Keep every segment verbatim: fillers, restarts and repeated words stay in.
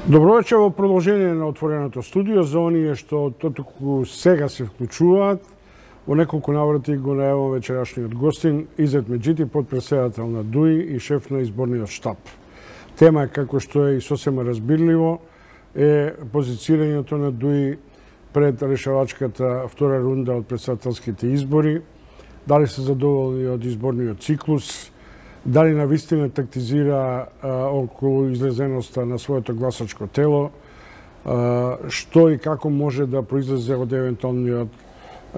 Добро вечер во продолжение на отвореното студио за оние што тотоку сега се вклучуваат. Во неколку наврати го најавам вечерашниот гостин Изет Меджити, потпредседател на ДУИ и шеф на изборниот штаб. Тема е, како што е и сосема разбирливо, е позицирањето на ДУИ пред решавачката втора рунда од претседателските избори. Дали се задоволни од изборниот циклус, дали навистина тактизира а, околу излезеноста на своето гласачко тело, а, што и како може да произлезе од евентуалниот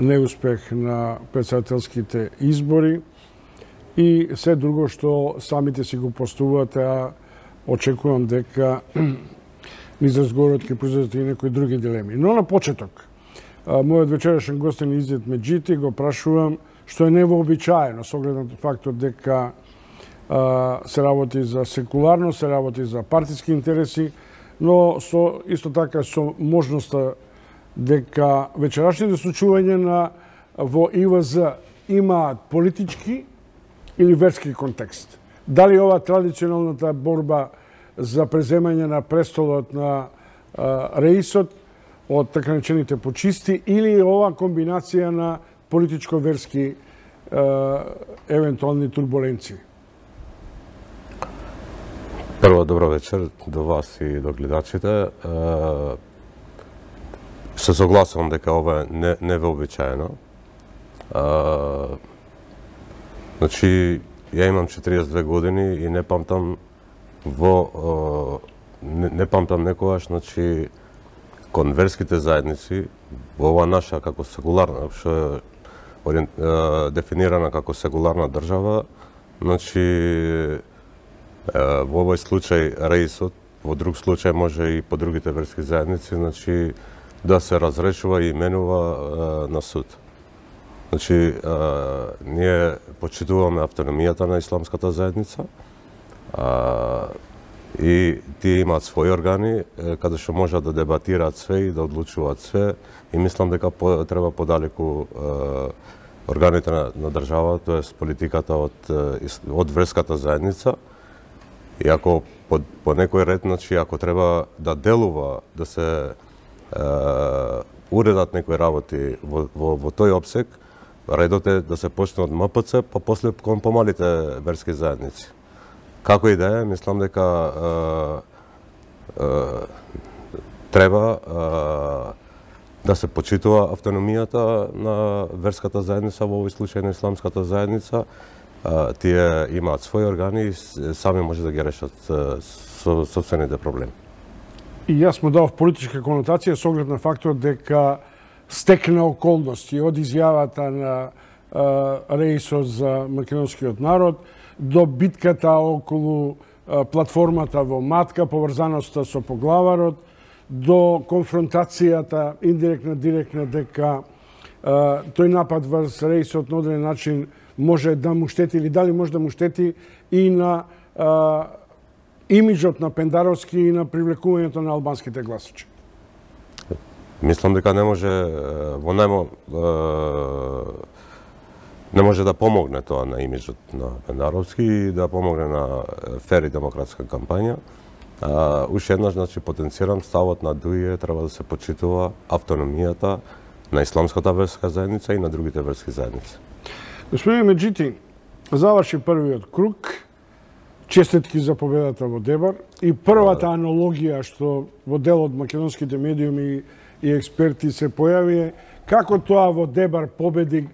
неуспех на претседателските избори и се друго што самите си го постуваат, а очекувам дека низ разговорот ќе произлезат и некои други дилеми. Но на почеток, а, мојот вечерашен гостин Изет Меджити го прашувам што е невообичаено со оглед на фактот дека се работи за секуларно, се работи за партиски интереси, но со исто така со можноста дека вечерашните случувања на во И В З имаат политички или верски контекст. Дали ова традиционалната борба за преземање на престолот на а, реисот од така наречените почисти или ова комбинација на политичко-верски евентуални турбуленции? Прво, добро вечер до вас и до гледачите. Се согласувам дека ова е не, невообичаено. Значи, ја имам четириесет и две години и не памтам во не, не памтам некогаш, значи, кон верските заедници во ова наша како секуларна, што е дефинирана како секуларна држава, значи во овој случај реисот, во друг случај може и по другите верски заедници, значи да се разрешува и именува на суд. Значи ние почитуваме автономијата на исламската заедница и тие имаат своји органи каде што можат да дебатираат све и да одлучуваат све и мислам дека треба подалеку органите на, на држава, тоест политиката од од верската заедница. И ако по, по некој ред, значи, ако треба да делува, да се е, уредат некои работи во, во, во тој обсек, редот е да се почне од М П Ц, па после кон помалите верски заедници. Како и да е, мислам дека е, е, треба е, да се почитува автономијата на верската заедница, во овој случај на исламската заедница. Тие имаат своји органи и сами може да ги решат со собствените проблеми. И јас му дав политичка конотација со оглед на фактот дека стекна околности од изјавата на реисот за македонскиот народ до битката околу платформата во Матка, поврзаноста со поглаварот, до конфронтацијата индиректна, директна дека тој напад врз реисот на одреден начин може да му штети или дали може да му штети и на а, имиджот на Пендаровски и на привлекувањето на албанските гласачи? Мислам дека не може во најмо не може да помогне тоа на имиджот на Пендаровски и да помогне на фер и демократска кампања. А, уште еднаш, значи, потенцирам ставот на ДУИ треба да се почитува автономијата на исламската верска заедница и на другите верски заедници. Господин Меджити, заврши првиот круг, честитки за победата во Дебар и првата аналогија што во дел од македонските медиуми и експерти се појави е како тоа во Дебар победи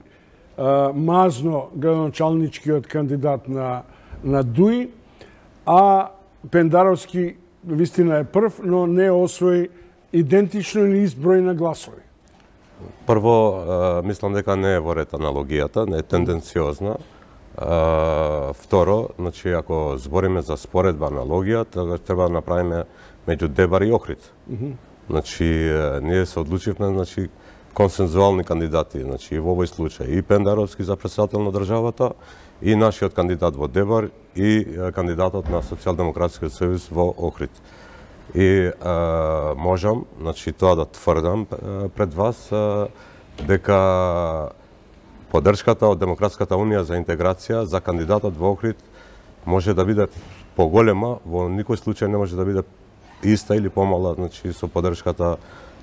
а, мазно градоначалничкиот кандидат на, на ДУИ, а Пендаровски вистина е прв, но не освои идентично или изброј на гласови. Прво, мислам дека не е во ред аналогијата, не е тенденциозна. Второ, значи, ако збориме за споредба аналогија, треба да направиме меѓу Дебар и Охрид. Mm -hmm. Значи, ние се одлучивме, значи, консензуални кандидати, значи, во овој случај и Пендаровски за претседател на државата, и нашиот кандидат во Дебар, и кандидатот на Социјалдемократскиот сојуз во Охрид. И а, можам, значи, тоа да тврдам пред вас, а, дека поддршката од Демократската унија за интеграција за кандидатот во Охрид може да биде поголема, во никој случај не може да биде иста или помала, значи со поддршката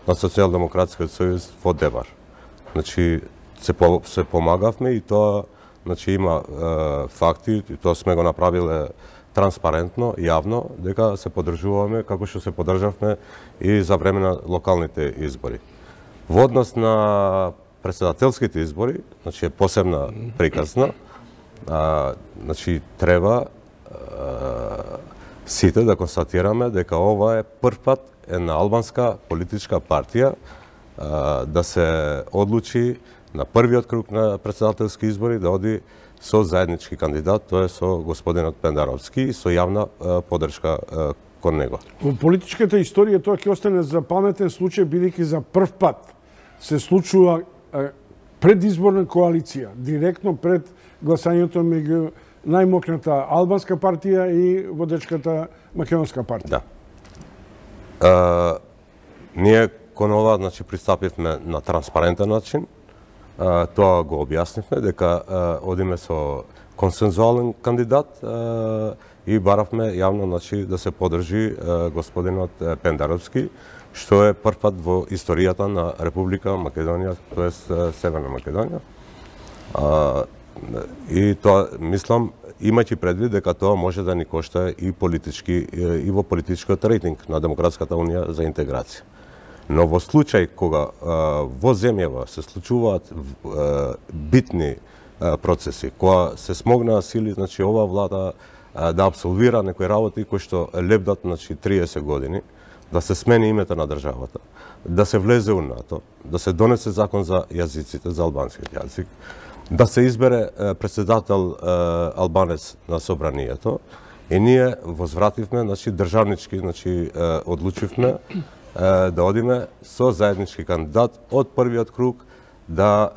на Социјалдемократскиот сојуз во Дебар. Значи се по, се помагавме и тоа значи има е, факти, и тоа сме го направиле транспарентно, јавно, дека се поддржуваме како што се поддржавме и за време на локалните избори. Во однос на претседателските избори, значи е посебна приказна, а, значи треба а, сите да констатираме дека ова е прв пат една албанска политичка партија а, да се одлучи на првиот круг на претседателски избори да оди со заеднички кандидат, тоа е со господинот Пендаровски и со јавна а, поддршка а, кон него. Во политичката историја тоа ќе остане за паметен случај, бидејќи за прв пат се случува а, предизборна коалиција, директно пред гласањето меѓу најмокната албанска партија и водечката македонска партија. Да. А, ние кон ова, значи, пристапивме на транспарентен начин. А, тоа го објаснивме, дека а, одиме со консензуален кандидат а, и баравме јавно, значи, да се поддржи а, господинот Пендаровски, што е прв пат во историјата на Република Македонија, тоест Северна Македонија. А, и тоа, мислам, имајќи предвид дека тоа може да ни кошта и политички и во политичкиот рейтинг на Демократската унија за интеграција. Но во случај кога а, во земјава се случуваат а, битни а, процеси, кога се смогнаа сили, значи оваа влада а, да абсолвира некои работи кои што лебдат, значи, триесет години, да се смени името на државата, да се влезе у НАТО, да се донесе закон за јазиците, за албанскиот јазик, да се избере е, председател е, албанец на собранието, и ние возвративме, значи, државнички, значи, е, одлучивме е, да одиме со заеднички кандидат од првиот круг, да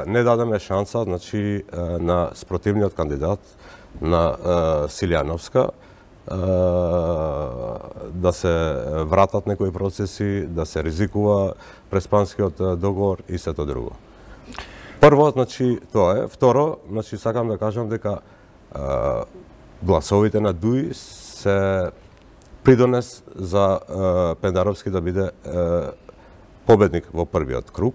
е, не дадеме шанса, значи, е, на спротивниот кандидат, на е, Силјановска, да се вратат некои процеси, да се ризикува преспанскиот договор и сето друго. Прво, значи, тоа е. Второ, значи, сакам да кажам дека а, гласовите на ДУИ се придонес за а, Пендаровски да биде а, победник во првиот круг.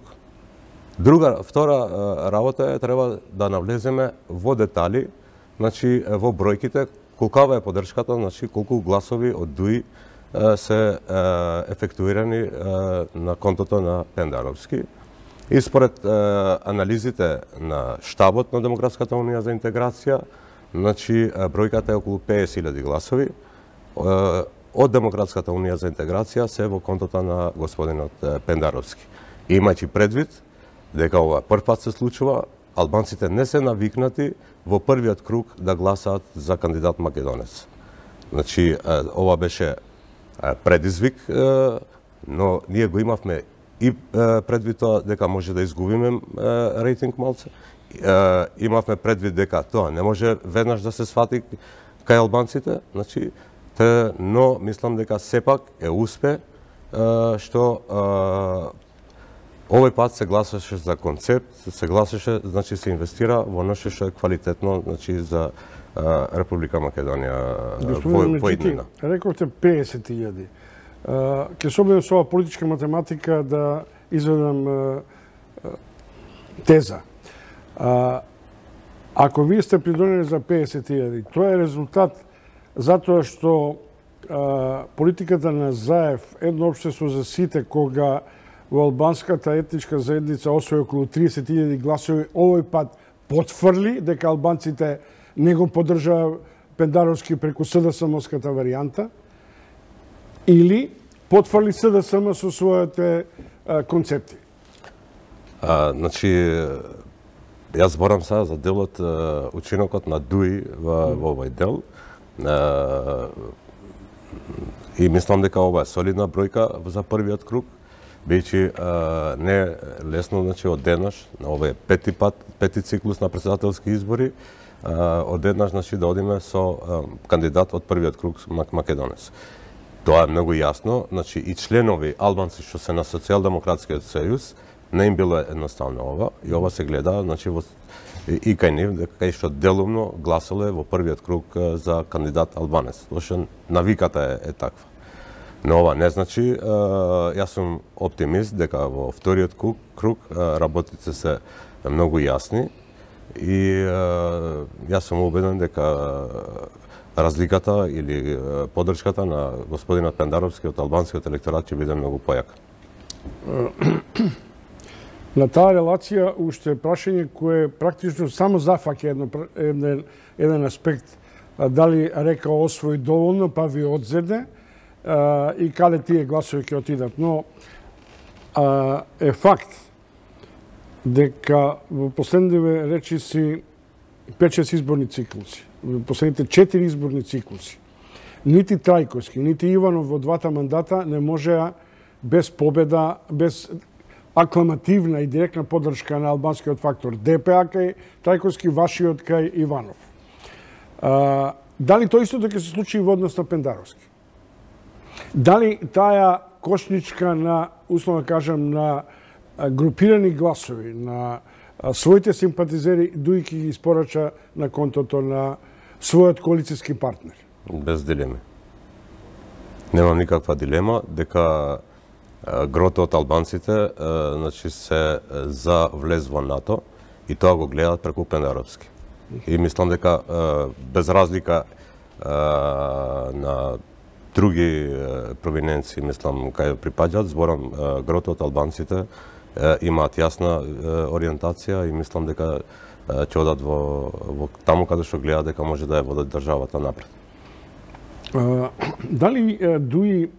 Друга, втора а, работа е, треба да навлеземе во детали, значи, во бројките, колкава е поддршката, значи колку гласови од ДУИ се ефектуирани на контото на Пендаровски. И според анализите на штабот на Демократската унија за интеграција, значи бројката е околу петдесет илјади гласови. Од Демократската унија за интеграција се во контото на господинот Пендаровски. Имајќи предвид дека ова прв пат се случува, албанците не се навикнати во првиот круг да гласаат за кандидат македонец. Значи, ова беше предизвик, но ние го имавме и предвид тоа дека може да изгубиме рейтинг малце. Имавме предвид дека тоа не може веднаш да се свати кај албанците, значи, те, но мислам дека сепак е успе што овој пат се гласаше за концепт, се гласаше, значи се инвестира во нешто што е квалитетно, значи за а, Република Македонија во иднина. Рековте петдесет илјади. Ќе се обидам со ова политичка математика да изведам а, а, теза. А, ако вие сте придонели за петдесет илјади, тоа е резултат затоа што а, политиката на Заев, едно општество за сите, кога во албанската етничка заедница освои околу триесет илјади гласови, овој пат потврли дека албанците не го поддржаа Пендаровски преку СДСМ-ската варијанта, или потврли СДСМ со своите а, концепти? А, значи, јас зборам сега за делот, учинокот на ДУИ во, во овој дел. А, и мислам дека ова е солидна бројка за првиот круг, бидејќи не е лесно, значи, од денаш, на овој пети пат, пети циклус на претседателски избори, а, од денаш, значи, да одиме со а, кандидат од првиот круг македонец. Тоа е многу јасно, значи, и членови албанци што се на Социјалдемократскиот сојуз, не им било едноставно ова, и ова се гледа, значи, во, и, и кај нив, кај што делумно гласале во првиот круг за кандидат албанец, зашто навиката е, е таква. Но ова не значи, јас сум оптимист дека во вториот круг работите се многу јасни и јас сум убеден дека разликата или поддршката на господинот Пендаровски од албанскиот електорат ќе биде многу појака. На таа релација уште прашање кое практично само зафаќа еден, еден аспект, дали река освои доволно па ви одзеде и каде тие гласови ќе отидат. Но е факт дека во последниве речиси пет-шест изборни циклуси, во последните четири изборни циклуси, нити Трајковски, нити Иванов во двата мандата не можеа без победа, без акламативна и директна поддршка на албанскиот фактор ДПА кај Трајковски, вашиот кај Иванов. А, дали тоа истото ќе се случи и во однос на Пендаровски? Дали таа кошничка на, условно кажам, на групирани гласови, на своите симпатизери, дуи ќе ги испорача на контото на својот коалицијски партнер? Без дилеми. Немам никаква дилема дека грото од албанците значи се за влез во НАТО и тоа го гледаат преку Пендаровски. И мислам дека без разлика на други провиненци, мислам, кај припаѓаат, зборам, грото од албанците имаат јасна ориентација и мислам дека ќе одат во, во таму каде што гледаат дека може да ја водат државата напред. А, дали дуи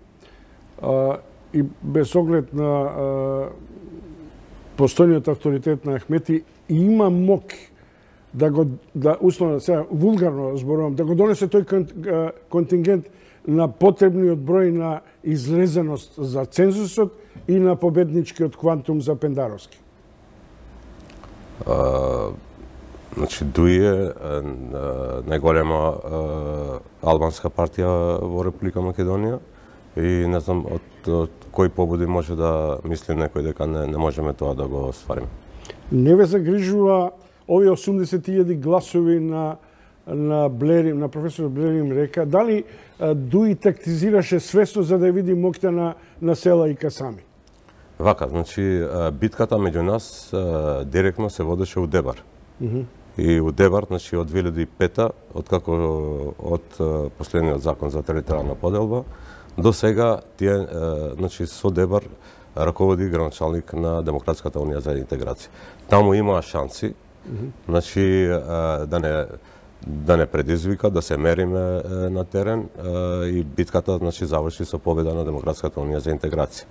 а, и без оглед на а, постојниот авторитет на Ахмети има мок да го, да условно, сега вулгарно зборувам, да го донесе тој контингент на потребниот број на излезеност за цензусот и на победничкиот квантум за Пендаровски? А, значи, Дуи е најголема албанска партија во Република Македонија и не знам од, од кои побуди може да мисли некој дека не, не можеме тоа да го оствариме. Не ве загрижува овие осумдесет илјади гласови на на Блерим, на професор Блерим река, дали Дуи тактизираше свесно за да види моќта на, на Села и Касами? Вака, значи, битката меѓу нас директно се водеше у Дебар. Mm -hmm. И у Дебар, значи, од две илјади и пета, откако од последниот закон за територијална поделба, до сега тие, значи, со Дебар раководи граначалник на Демократската унија за интеграција. Таму имаа шанси, mm -hmm. значи, да не да не предизвика, да се мериме на терен и битката, значи, заврши со победа на Демократската унија за интеграција.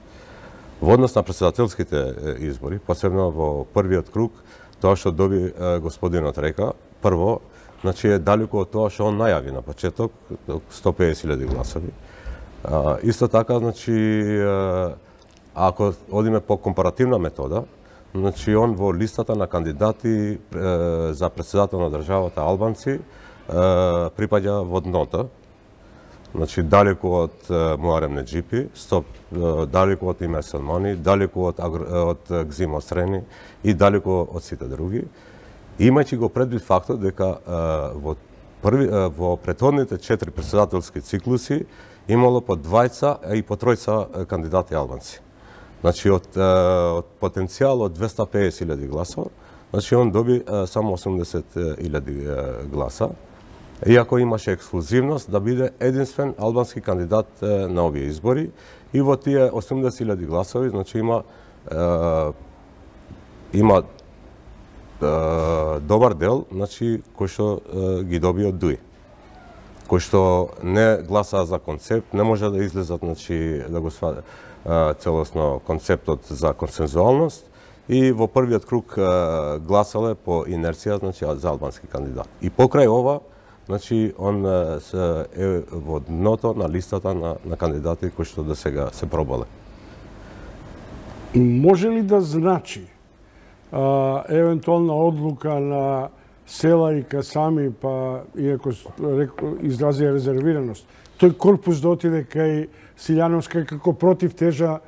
Во однос на претседателските избори, посебно во првиот круг, тоа што доби господинот река, прво, значи е далеку од тоа што он најави на почеток, сто педесет илјади гласови. А, исто така, значи, ако одиме по компаративна метода, значи он во листата на кандидати е, за претседател на државата албанци е, припаѓа во дното. Значи, далеку од Муарем Неџипи, стоп, далеку од Име Салмани, далеку од, од Гзим Острени и далеку од сите други. Имајќи го предвид фактот дека во, први, во претходните четири претседателски циклуси имало по двајца и по тројца кандидати албанци. Значи, од, од потенцијал од двеста педесет илјади гласова, значи он доби само осумдесет илјади гласа. Иако имаше ексклузивност да биде единствен албански кандидат на овие избори и во тие осумдесет илјади гласови, значи има е, има е, добар дел, значи кој што е, ги доби од Дуи. Кој што не гласаа за концепт, не може да излезат, значи да го сваде целосно концептот за консензуалност и во првиот круг е, гласале по инерција, значи за албански кандидат. И покрај ова, значи, он е во дното на листата на, на кандидати кои што до сега се пробале. Може ли да значи а, евентуална одлука на Села и Касами, па иако изразија резервираност, тој корпус да отиде кај Силјановска како против тежа,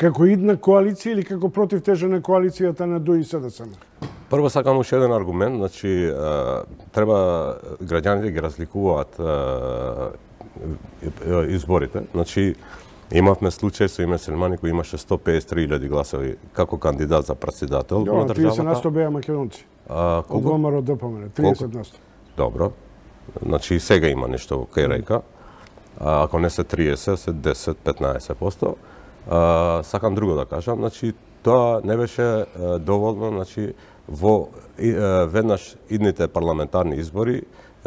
како идна коалиција или како против тежа на коалицијата на Дуи и СДСМ? Прво сакам уште еден аргумент, значи треба граѓаните ги разликуваат изборите. Значи Имавме случај со име Селмани кој имаше сто пеесет и три илјади гласови како кандидат за председател на државата. триесет на сто беа македонци. А, Од ВМРО ДПМН, триесет на сто. Добро. Значи и сега има нешто кај река. А, ако не се триесет, се десет до петнаесет проценти. А, сакам друго да кажам, значи тоа не беше а, доволно, значи во и, а, веднаш идните парламентарни избори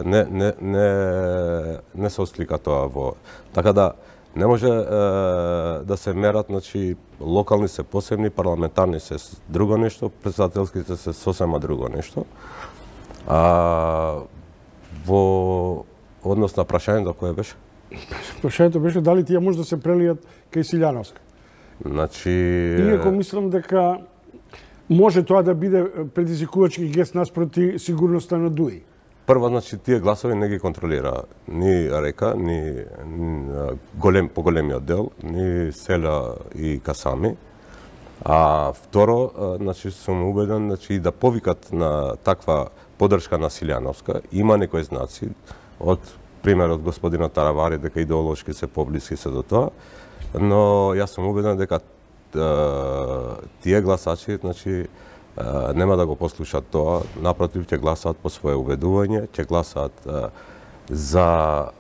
не не не не се ослика тоа во. Така да не може е, да се мерат, значи локални се посебни, парламентарни се друго нешто, председателските се сосема друго нешто. А во однос на прашањето кое беше? Прашањето беше дали тие може да се прелијат кај Силјановска. Значи Иако мислам дека може тоа да биде предизвикувачки гест наспроти сигурноста на Дуи. Прво, значи, тие гласови не ги контролира ни Река, ни, ни голем, поголемиот дел, ни Селја и Касами. А второ, значи, сум убеден, значи, да повикат на таква поддршка на Силјановска, има некои знаци, од примерот господинот Таравари, дека идеолошки се поблиски се до тоа, но јас сум убеден дека тие гласачи, значи, Uh, нема да го послушат тоа, напротив ќе гласаат по свое убедување, ќе гласаат uh, за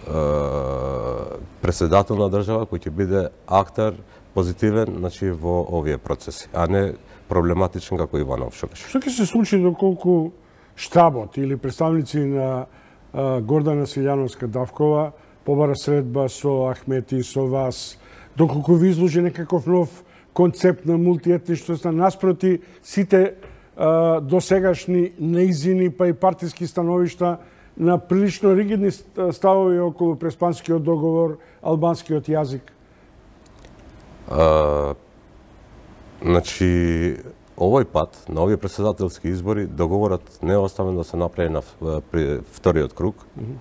uh, председател на држава кој ќе биде актер позитивен, значи во овие процеси, а не проблематичен како Иванов што беше. Што ќе се случи доколку штабот или представници на uh, Гордана Силјановска Давкова побара средба со Ахмети, со вас, доколку ви изложи некаков нов концепт на мултиетничност, наспроти сите а, досегашни неизини па и партиски становишта на прилично ригидни ставови околу Преспанскиот договор, албанскиот јазик? А, значи, овој пат, на овие председателски избори, договорот не е оставен да се направи на при вториот круг, mm -hmm.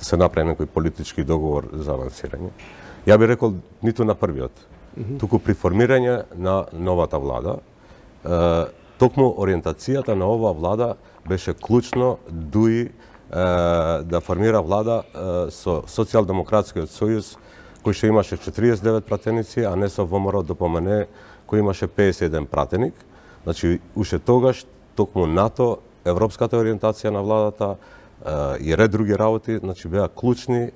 се направи некој политички договор за авансирање. Ја би рекол, ниту на првиот. Mm -hmm. Туку при формирање на новата влада, е, токму ориентацијата на оваа влада беше клучно Дуи е, да формира влада е, со Социјалдемократскиот сојуз, кој што имаше четириесет и девет пратеници, а не со ВМРО ДПМН, кој имаше пеесет и еден пратеник. Значи, уште тогаш, токму НАТО, европската ориентација на владата е, и ред други работи, значи беа клучни е,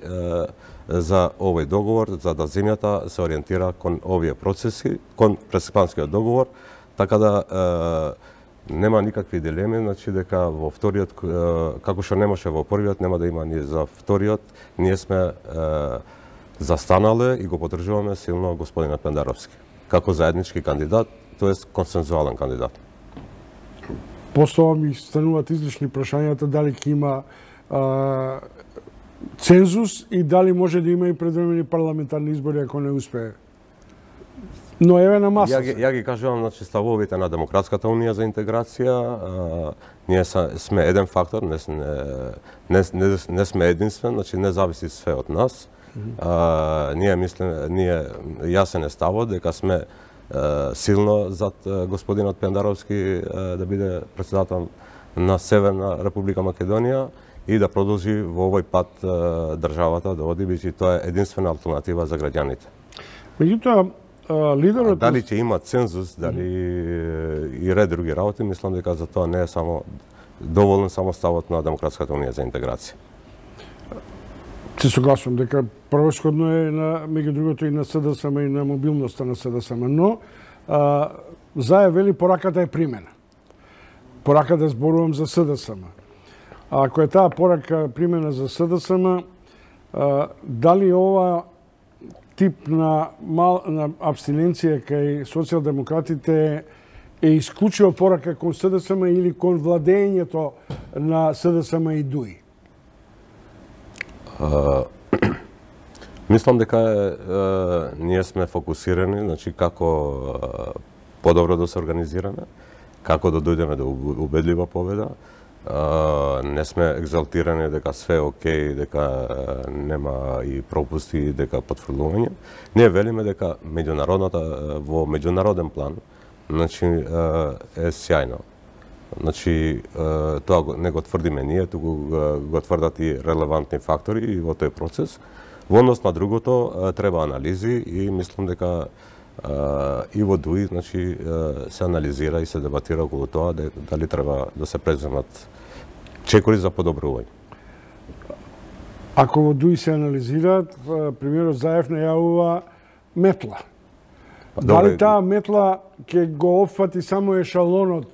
за овој договор, за да земјата се ориентира кон овие процеси, кон Преспанскиот договор, така да е, нема никакви дилеми, значи дека во вториот, е, како што немаше во првиот, нема да има ни за вториот, ние сме е, застанале и го поддржуваме силно господинот Пендаровски, како заеднички кандидат, тоест консензуален кандидат. Постоја ми стануваат излишни прашањата дали ќе има а, цензус и дали може да има и предвремени парламентарни избори ако не успее. Но еве на маса. Ја ги, ја ги кажувам, значи, ставовите на Демократската унија за интеграција. А, ние са, сме еден фактор, не, не, не, не сме единствен, значи не зависи све од нас. Mm -hmm. а, ние мислиме, ние јасен е ставот дека сме а, силно зад а, господинот Пендаровски а, да биде председател на Северна Република Македонија и да продолжи во овој пат а, државата да оди, бидејќи тоа е единствена алтернатива за граѓаните. Меѓутоа, лидерот... А дали ќе има цензус, дали и ред други работи, мислам дека за тоа не е само доволен само ставот на Демократската унија за интеграција. Се согласувам дека превосходно е на меѓу другото и на СДСМ и на мобилноста на СДСМ, но а, Заев вели пораката е примена. Пораката зборувам за СДСМ. А ако е таа порака примена за СДСМ, а, дали ова тип на, мал, на абстиненција кај социјалдемократите е исклучиво порака кон СДСМ или кон владењето на СДСМ и Дуи? Uh, мислам дека uh, ние сме фокусирани, значи како uh, подобро да се организираме, како да дојдеме до убедлива победа. Uh, не сме екзалтирани дека све е окей, дека uh, нема и пропусти, дека потврлување. Ние велиме дека меѓународната uh, во меѓународен план, значи uh, е сјајно. Значи, тоа не го тврдиме ние, туку го тврдат и релевантни фактори и во тој процес. Во однос на другото треба анализи и мислам дека и во ДУИ, значи, се анализира и се дебатира околу тоа дали треба да се преземат чекори за подобрување. Ако во ДУИ се анализираат, премиерот Заев најавува метла. Дали таа метла ќе го опфати само ешалонот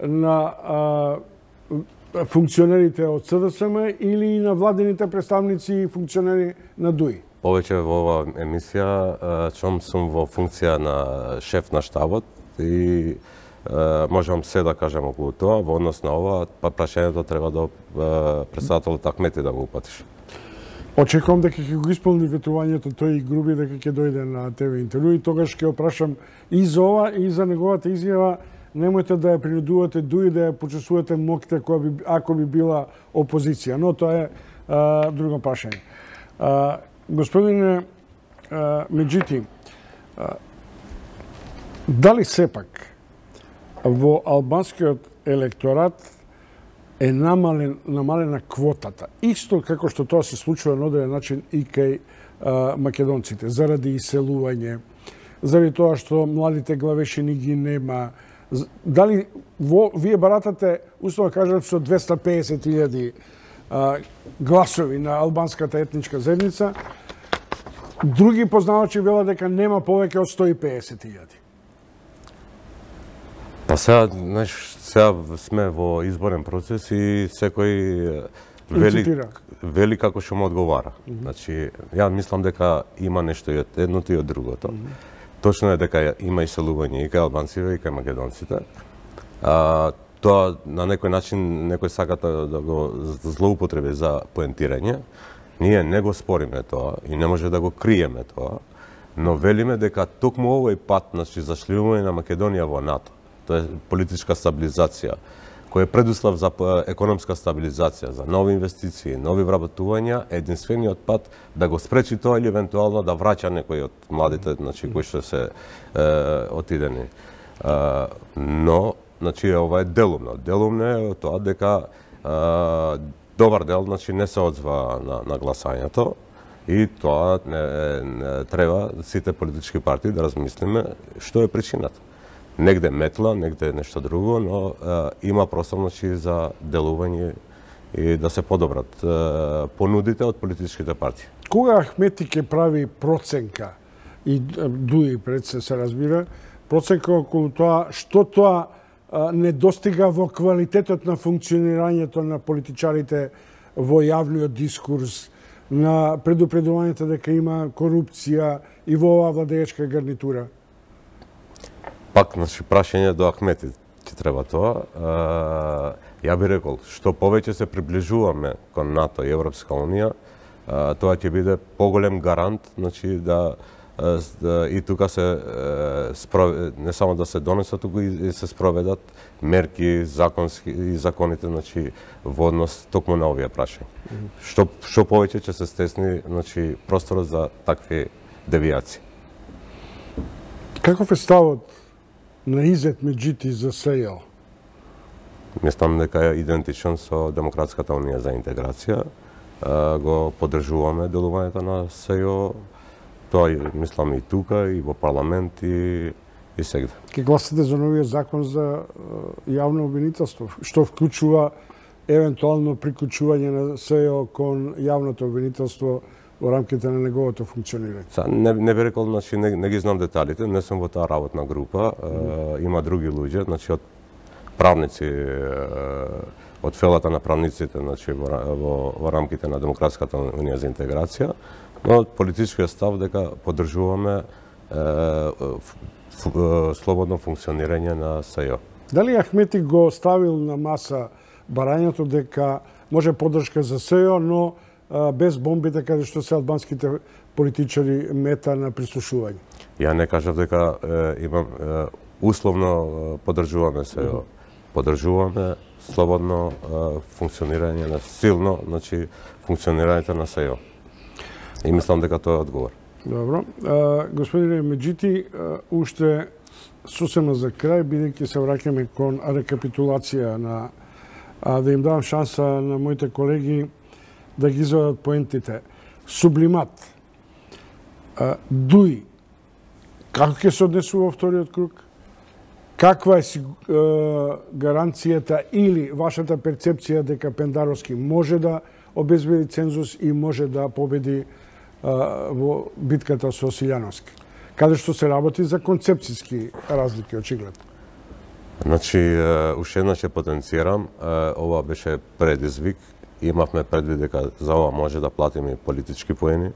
на а, функционерите од СДСМ или и на владените представници и функционери на ДУИ? Повеќе во оваа емисија, чом сум во функција на шеф на штабот и можам се да кажам околу тоа, во однос на ова, па прашањето треба да председателот Ахмети да го упатиш. Очекувам дека ќе го исполни ветувањето тој и Груби дека ќе дојде на ТВ интервју и тогаш ќе опрашам и за ова и за неговата изјава. Немојте да ја принудувате ДУИ да ја почесувате моките која би, ако би била опозиција, но тоа е а, друго прашање. А, господине а, Меджити, а, дали сепак во албанскиот електорат е намален, намалена квотата, исто како што тоа се случува на одреден начин и кај а, македонците, заради иселување, заради тоа што младите главешини ги нема. Дали во, вие баратате, условно кажат, со двесте и песет илјади гласови на албанската етничка заедница, други познавачи велат дека нема повеќе од сто и песет илјади. Па сега, знаеш, сега сме во изборен процес и секој вели, вели како што му одговара. Mm -hmm. Значи, ја мислам дека има нешто и од едното и од другото. Mm -hmm. Точно е дека има иселување и кај албанците и кај македонците. А, тоа на некој начин некој саката да го злоупотреби за поентирање. Ние не го спориме тоа и не може да го криеме тоа, но велиме дека токму овој пат, значи зашлivување на Македонија во НАТО, тоа е политичка стабилизација, кој е предуслов за економска стабилизација, за нови инвестиции, нови вработувања, единствениот пат да го спречи тоа или евентуално да враќа некој од младите, значи кои што се е, отидени. Е, но, значи ова е делумно. Делумно е тоа дека е, добар дел, значи не се одзва на, на гласањето и тоа не, не треба сите политички партии да размислиме што е причината. Негде метла, негде нешто друго, но е, има простор, значи, за делување и да се подобрат е, понудите од политичките партии. Кога Ахмети ќе прави проценка, и ДУИ пред се се разбира, проценка околу тоа што тоа е, не достига во квалитетот на функционирањето на политичарите во јавниот дискурс, на предупредувањето дека има корупција и во оваа владеечка гарнитура? Пак, значи, прашање до Ахмети ќе треба тоа. Ја би рекол, што повеќе се приближуваме кон НАТО и Европска Унија, тоа ќе биде поголем гарант, значи, да, да и тука се не само да се донесат, туку и се спроведат мерки, законски и законите, значи, во однос токму на овие прашања. Mm -hmm. Што што повеќе ќе се стесни, значи, просторот за такви девијации. Каков е ставот на Изет Меджити за СЈО? Мислам дека е идентичен со Демократската унија за интеграција. Го поддржуваме делувањето на СЈО. Тоа мислам и тука, и во парламент, и, и сегде. Ке гласате за новиот закон за јавно обвинителство, што вклучува евентуално приклучување на СЈО кон јавното обвинителство во рамките на неговото функционирање? Са, не, не би рекол, значи, не, не ги знам деталите, не сум во таа работна група. Mm. Е, има други луѓе, значи, од правници, е, од фелата на правниците, значи, во, во, во рамките на Демократската унија за интеграција, но политичкиот став дека поддржуваме е, ф, ф, слободно функционирање на СЈО. Дали Ахмети го ставил на маса барањето дека може поддршка за СЈО, но без бомбите каде што се албанските политичари мета на прислушување? Ја не кажав дека е, имам е, условно поддржуваме СЈО. Mm -hmm. Поддржуваме слободно е, функционирање на силно, значи функционирањето на СЈО. И мислам дека тоа е одговор. Добро. А, господине Меджити, уште сосема за крај, бидејќи се враќаме кон рекапитулација на а, да им давам шанса на моите колеги да ги извадат поентите. сублимат. Дуи, како ќе се однесува во вториот круг? Каква е гаранцијата или вашата перцепција дека Пендаровски може да обезбеди цензус и може да победи во битката со Силјановски? Каде што се работи за концепцијски разлики, очигледно. Значи, уште еднаш ќе потенцирам, ова беше предизвик. Имавме предвид дека за ова може да платиме политички поени,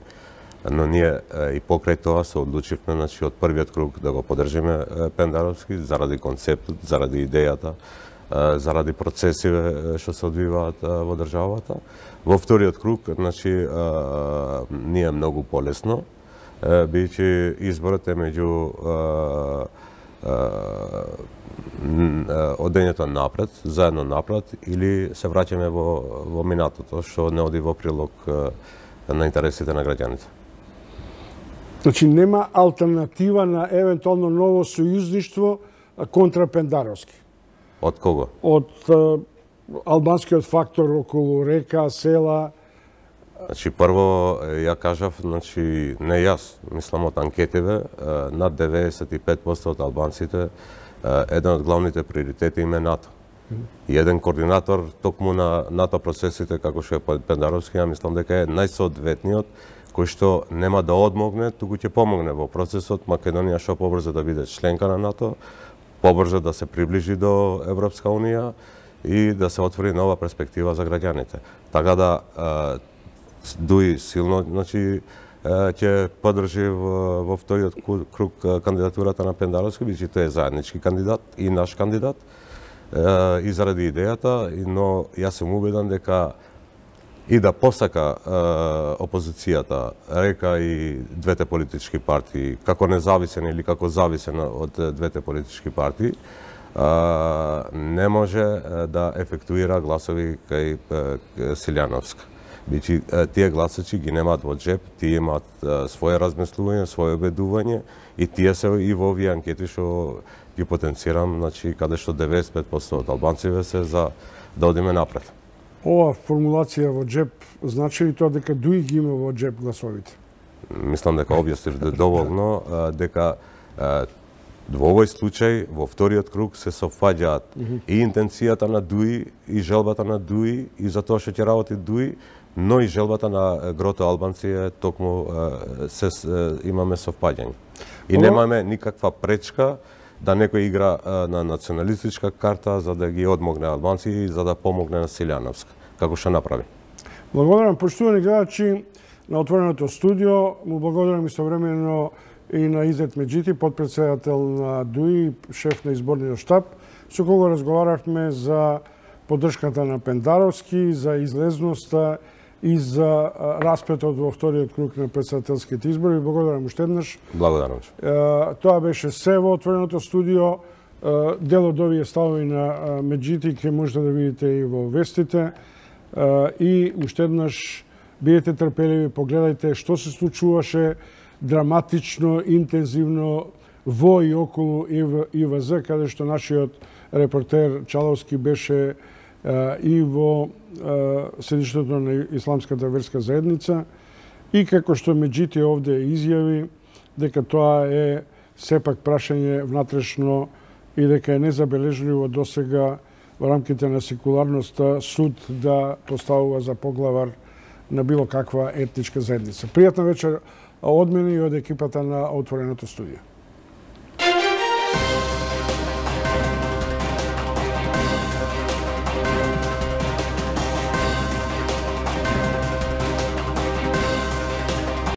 но ние и покрај тоа се одлучивме, значи, од првиот круг да го поддржиме Пендаровски заради концептот, заради идејата, заради процесиве што се одвиваат во државата. Во вториот круг, значи, ние многу полесно, бидејќи изборот е меѓу одењето напред, заедно напред, или се враќаме во, во минатото, што не оди во прилог на интересите на граѓаните. Значи, нема алтернатива на евентуално ново сојузништво контра Пендаровски? Од кого? Од албанскиот фактор околу река, села. Значи, прво, ја кажав, значи, не јас, мислам од анкетиве, над деветдесет и пет проценти од албанците, еден од главните приоритети им е НАТО. И еден координатор токму на НАТО процесите, како што е Пендаровски, ја мислам дека е најсоодветниот, кој што нема да одмогне, туку ќе помогне во процесот Македонија што побрзо да биде членка на НАТО, побрзо да се приближи до Европска Унија и да се отвори нова перспектива за граѓаните. Така да, Дуи силно, значи, ќе поддржи во вториот круг кандидатурата на Пендаровски, бидејќи тој е заеднички кандидат и наш кандидат, и заради идејата, но јас сум убеден дека и да посака опозицијата, река и двете политички партии, како независен или како зависен од двете политички партии, не може да ефектуира гласови кај Силјановска. Бидејќи тие гласачи ги немаат во джеб, тие имаат своје размислување, своје обедување и тие се и во овие анкети што ги потенцирам, значи каде што деветдесет и пет проценти од албанците се за да одиме напред. Ова формулација во джеб значи ли тоа дека Дуи ги има во джеб гласовите? Мислам дека објаснив доволно дека во овој случај, во вториот круг се совпаѓаат mm -hmm. и интенцијата на Дуи, и желбата на Дуи, и за тоа што ќе работи Дуи, но и желбата на грото албанци е токму се имаме совпаѓање. И немаме никаква пречка да некој игра на националистичка карта за да ги одмогне албанци и за да помогне на Силјановска, како што направи. Благодарам, поштувани гледачи на Отвореното студио. Му благодарам истовремено и на Изет Меджити, подпредседател на Дуи, шеф на изборниот штаб, со кого разговаравме за поддршката на Пендаровски, за излезноста и за распетот во вториот круг на председателските избори. Благодарам уште еднаш. Благодарам. Тоа беше се во Отвореното студио. Дел од овие ставови на Меджити ќе можете да видите и во вестите. И уште еднаш бидете трпеливи, погледајте што се случуваше драматично, интензивно во и околу И В З, каде што нашиот репортер Чаловски беше и во седиштето на Исламската верска заедница, и како што Меджити овде изјави дека тоа е сепак прашање внатрешно и дека е незабележливо досега во рамките на секуларноста суд да поставува за поглавар на било каква етничка заедница. Пријатна вечер од мене и од екипата на Отвореното студио.